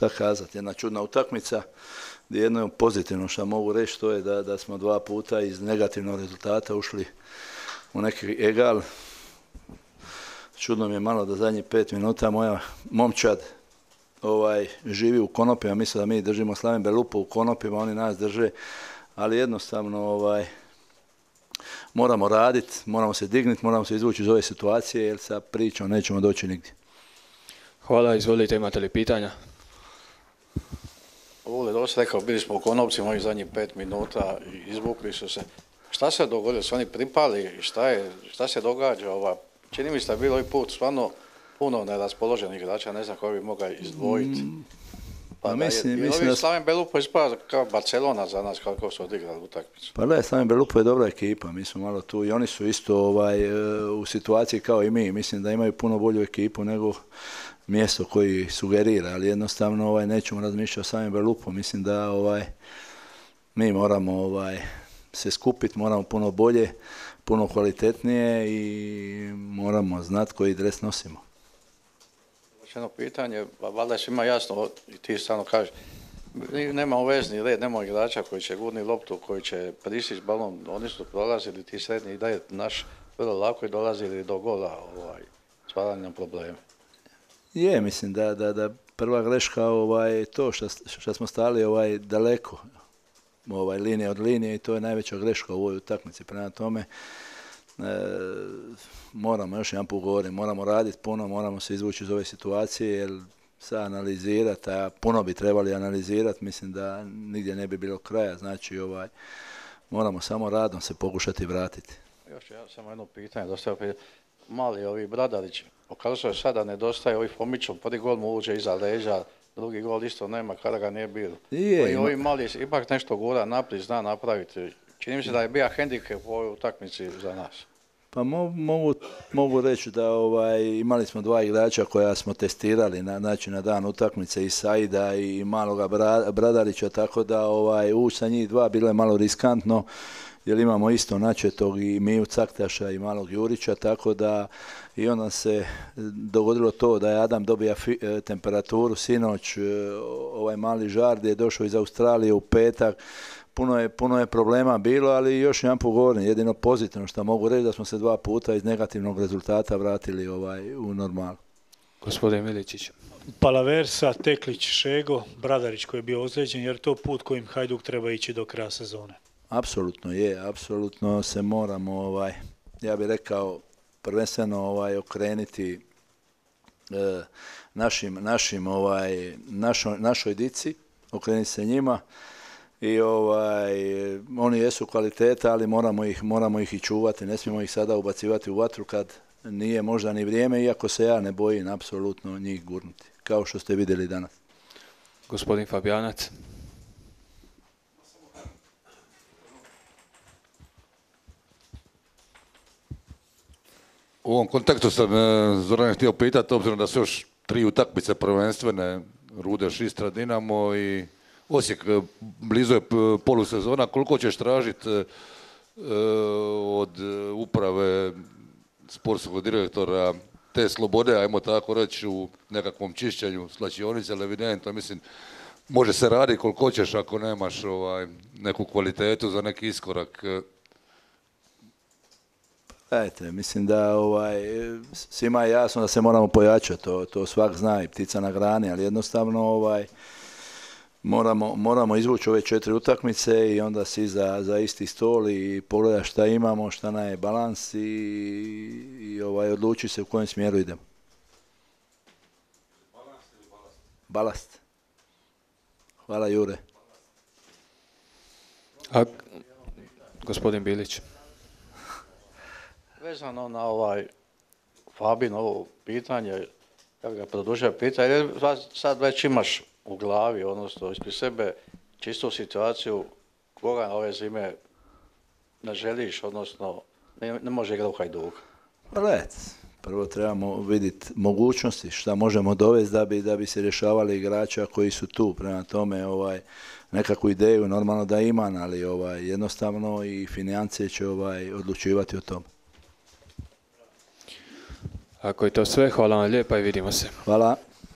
šta kazati, jedna čudna utakmica. Jedno pozitivno što mogu reći to je da smo 2 puta iz negativnog rezultata ušli u neki egal. Čudno mi je malo da zadnjih 5 minuta moja momčad živi u konopima, misle da mi držimo Slaven Belupo u konopima, oni nas drže, ali jednostavno moramo raditi, moramo se dignuti, moramo se izvući iz ove situacije jer sa pričom nećemo doći nigdje. Hvala, izvolite, imate li pitanja? Ovo je dosta rekao, bili smo u konopcima ovih zadnjih 5 minuta i izvukli su se. Šta se dogodilo? Su oni pripali? Šta se događa? Čini mi se da je bilo ovaj put stvarno puno neraspoloženih igrača, ne znam koji bi mogao izdvojiti. Mislim da Slaven Belupo ispada kao Barcelona za nas kako su odigrali utakmicu. Pa da, Slaven Belupo je dobra ekipa, mi smo malo tu i oni su isto u situaciji kao i mi. Mislim da imaju puno bolju ekipu nego mjesto koji sugerira, ali jednostavno nećemo razmišljati o Slaven Belupo. Mislim da mi moramo se skupiti, moramo puno bolje, puno kvalitetnije i moramo znati koji dres nosimo. Jedno pitanje, valjda je svima jasno, i ti stvarno kažeš, nemamo vezni red, nemamo igrača koji će gurni loptu, koji će pristići balon, oni su prolazili ti srednji i da je naš vrlo lako i dolazili do gola, stvarali nam probleme. Je, mislim da prva greška je to što smo stali daleko, linija od linije i to je najveća greška u ovoj utakmici. Prema tome, moramo još jedan put govorim, moramo raditi puno, moramo se izvući iz ove situacije jer sad analizirati, a puno bi trebali analizirati, mislim da nigdje ne bi bilo kraja, znači moramo samo radom se pokušati vratiti. Još ja samo jedno pitanje, mali ovi Bradarić, pokazuje sada nedostaje ovih Fomićom, prvi gol mu uđe iza leđa, drugi gol isto nema kada ga nije bilo. Ovi mali ipak nešto gura naprijed, zna napraviti. Čini mi se da je bio hendikep u ovoj utakmici za nas. Pa mogu reći da imali smo 2 igrača koja smo testirali na dan utakmice i Saida i maloga Bradarića, tako da ući sa njih 2 bilo je malo riskantno jer imamo isto načetog i Miju Caktaša i malog Jurića, tako da i onda se dogodilo to da je Adam dobija temperaturu sinoć, ovaj mali Žardi je došao iz Australije u petak. Puno je problema bilo, ali još jedan put govorim, jedino pozitivno što mogu reći da smo se 2 puta iz negativnog rezultata vratili u normalu. Gospodin Miličić. Palaversa, Teklić, Šego, Bradarić koji je bio ozlijeđen, jer to put kojim Hajduk treba ići do kraja sezone. Apsolutno je, apsolutno se moramo, ja bih rekao, prvenstveno okrenuti našoj dici, okrenuti se njima. I oni jesu kvaliteta, ali moramo ih i čuvati, ne smijemo ih sada ubacivati u vatru kad nije možda ni vrijeme, iako se ja ne bojim apsolutno njih gurnuti, kao što ste vidjeli danas. Gospodin Fabijanac. U ovom kontekstu sam Zoran htio pitati, obzirom da su još 3 utakmice prvenstvene, Rudeš, Istra, Dinamo i Osijek, blizu je polusezona, koliko ćeš tražiti od uprave sportskog direktora te slobode, ajmo tako reći, u nekakvom čišćenju slačionice, ali evidentno, mislim, može se raditi koliko ćeš ako nemaš neku kvalitetu za neki iskorak. Gledajte, mislim da svima je jasno da se moramo pojačati, to svak zna i ptica na grani, ali jednostavno moramo izvući ove 4 utakmice i onda si za isti stol i pogledati šta imamo, šta nam je balans i odluči se u kojem smjeru idemo. Balans ili balast? Balast. Hvala Jure. Gospodin Bilić. Vezano na Fabin ovo pitanje, ja ga produžio pitanje, jer sad već imaš u glavi, odnosno ispred sebe, čistu situaciju koga ove zime ne želiš, odnosno ne može igrati u Hajduku. Prvo trebamo vidjeti mogućnosti šta možemo dovesti da bi se rješavali igrača koji su tu. Prema tome nekakvu ideju normalno da imam, ali jednostavno i financije će odlučivati o tome. Ako je to sve, hvala vam lijepa i vidimo se. Hvala.